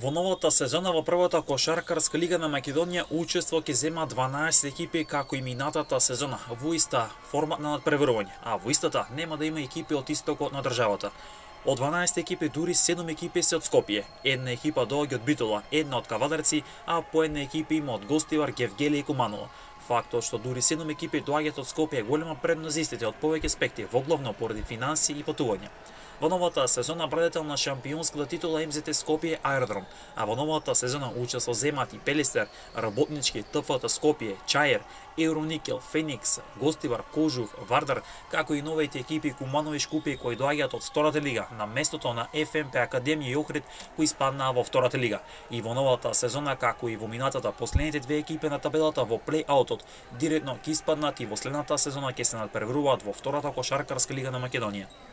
Во новата сезона во првата кошаркарска лига на Македонија учество ќе зема 12 екипи како и минатата сезона во иста формат на надпреварување, а во истата нема да има екипи од истокот на државата. Од 12 екипи дури 7 екипи се од Скопје, една екипа доаѓа од Битола, една од Кавадарци, а по една екипа има од Гостивар, Гевгели и Куманово. Фактот што дури 7 екипи доаѓаат од Скопје е голема предност за истите од повеќе аспекти, воглавно поради финанси и патување. Во новата сезона брадетел на шампионската титула МЗТ Скопје Аеродром, а во новата сезона учество земат и Пелистер, Работнички, ТФТ Скопје, Чаер, Евроникел, Феникс, Гостивар, Кожув, Вардар, како и новите екипи Куманово и Шкупје кои доаѓаат од втората лига на местото на ФМП Академија и Охрид кои спаднаа во втората лига. И во новата сезона, како и во минатата, последните две екипи на табелата во плей-аутот директно ќе испаднат и во следната сезона ќе се надпреваруваат во втората кошаркарска лига на Македонија.